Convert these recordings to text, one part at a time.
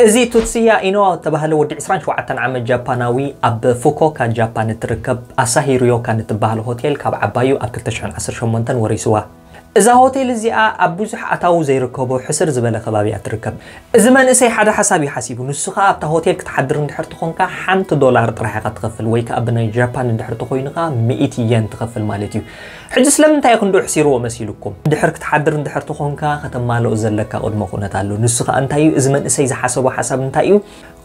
እዚ ቱትስያ ኢኖዋ ዝተባህለ ወዲ ዕስራን ሸውዓተን ዓመት ጃፓናዊ ኣብ ፉኮካ ጃፓን እትርከብ ኣሳሂ ርዮካን እትበሃል ሆቴል ካብ ዓባዩ ኣብ ክልተ ሽሕን ዓሰርተ ሸሞንተን ወሪስዋ። እዛ ሆቴል እዚኣ ኣብ ብዙሕ ኣታዊ ዘይርከቦ ሕስር ዝበለ ከባቢ እያ ትርከብ። እዚ መንእሰይ ሓደ ሓሳብ እዩ ሓሲቡ። ንሱ ኸኣ ኣብታ ሆቴል ክትሓድር እንድሕር ትኾንካ ሓንቲ ዶላር ጥራሕ ኢኻ ትኸፍል፣ ወይ ከኣ ብናይ ጃፓን እንድሕር ተኾይኑ ኸኣ ሚእቲ የን ትኸፍል ማለት እዩ። ሕጂ ስለምንታይ እዩ ክንድኡ ሕሲርዎ መሲሉኩም? ድሕር ክትሓድር እንድሕር ተኾንካ ከተማልኦ ዘለካ ቅድመ ኩነት ኣሎ። ንሱ ኸኣ እንታይ እዩ? እዚ መንእሰይ ዝሓሰቦ ሓሳብ እንታይ እዩ?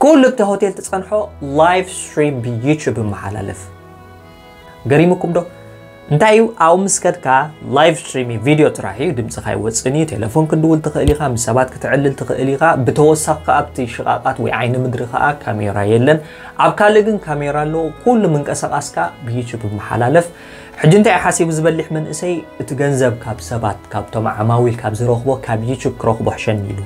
ኩሉ ኣብቲ ሆቴል ትጸንሖ ላይቭ ስትሪም ብዩቱብ ይመሓላለፍ። ገሪሙኩም ዶ? እንታይ እዩ ኣብኡ ምስ ከድካ ላይቭ ስትሪም ቪድዮ ጥራሕ እዩ፣ ድምፅኻ ይወፅን እዩ። ቴሌፎን ክንድውል ትኽእል ኢኻ፣ ምስ ሰባት ክትዕልል ትኽእል ኢኻ። ብተወሳኺ ከኣ ኣብቲ ሽቓቓት ወይ ዓይኒ ምድሪ ከኣ ካሜራ የለን። ኣብ ካልእ ግን ካሜራ ኣለዎ። ኩሉ ምንቀሳቓስካ ብዩቱብ ይመሓላለፍ። ሕጂ እንታይ እዩ ሓሲቡ ዝበሊሕ መንእሰይ? እቲ ገንዘብ ካብ ሰባት፣ ካብቶም ዓማዊል ካብ ዝረኽቦ ካብ ዩቱብ ክረኽቦ ሕሸኒ ኢሉ።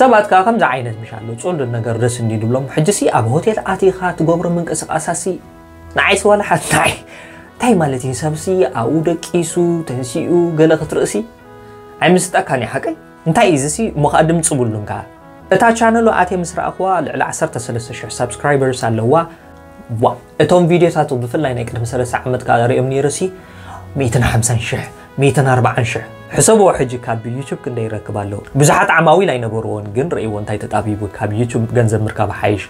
ሰባት ከኣ ከምዚ ዓይነት ምሽ ኣሎ፣ ጽሉል ነገር ደስ እንዲ ድብሎም። ሕጂ ሲ ኣብ ሆቴል ኣቲኻ ትገብሮ ምንቅስቃሳሲ ንዓይሲ ዋላ ሓንቲ ንዓይ እንታይ ማለት እዩ? ሰብሲ ኣብኡ ደቂሱ ተንሲኡ ገለ ክትርእሲ ኣይምስጠካን እዩ ሓቀይ። እንታይ እዩ እዚ ሲ? እሞ ከኣ ድምፂ ብሉን ከኣ። እታ ቻነሉ ኣትየ ምስ ረኣኽዋ ልዕሊ ዓሰርተ ሰለስተ ሽሕ ሳብስክራይበርስ ኣለዋ። ዋ እቶም ቪድዮታቱ ብፍላይ ናይ ቅድሚ ሰለስተ ዓመት ከኣ ሪኦም ነይረ ሲ ሚእትን ሓምሳን ሽሕ ሚእትን ኣርባዓን ሽሕ። ሕሰብዎ ሕጂ ካብ ዩቱብ ክንደይ ይረክብ ኣለዉ። ብዙሓት ዓማዊል ኣይነበርዎን ግን ርእይዎ እንታይ ተጣቢቡ ካብ ዩቱብ ገንዘብ ምርካብ ሓይሽ።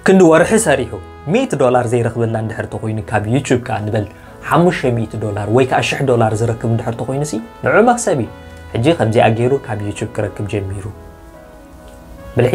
ክንዲ ወርሒ ሰሪሑ ሚእቲ ዶላር ዘይረኽበላ እንድሕር ተኾይኑ ካብ ዩቱብ ከኣ ንበል ሓሙሽተ ሚእቲ ዶላር ወይ ከኣ ሽሕ ዶላር ዝረክብ እንድሕር ተኾይኑ ሲ ንዑ መኽሰብ እዩ። ሕጂ ከምዚኣ ገይሩ ካብ ዩቱብ ክረክብ ጀሚሩ። ብልሒ